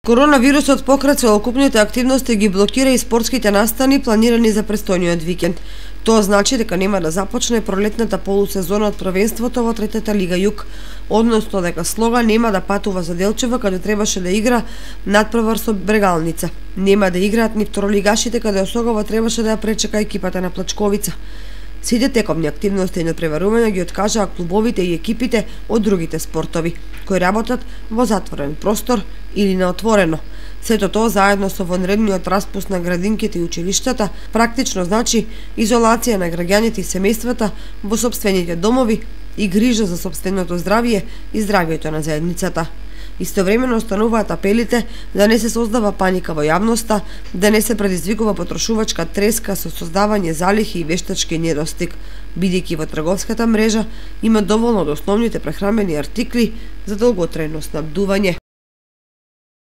Коронавирусот покрај целокупните активности ги блокира и спортските настани планирани за престојниот викенд. Тоа значи дека нема да започне пролетната полусезона од првенството во третата лига Југ, односно дека Слога нема да патува за Делчево каде требаше да игра надпревар со Брегалница. Нема да играат ни второлигашите каде Осогово требаше да ја пречека екипата на Плачковица. Сите тековни активности и надпреварувања ги откажаа клубовите и екипите од другите спортови, кои работат во затворен простор или на отворено. Сето тоа заедно со вонредниот распуст на градинките и училиштата практично значи изолација на граѓаните и семејствата во сопствените домови и грижа за сопственото здравје и здравјето на заедницата. Истовремено остануваат апелите да не се создава паника во јавноста, да не се предизвикува потрошувачка треска со создавање залихи и вештачки недостиг, бидејќи во трговската мрежа има доволно од основните прехранбени артикли за долготрајно снабдување.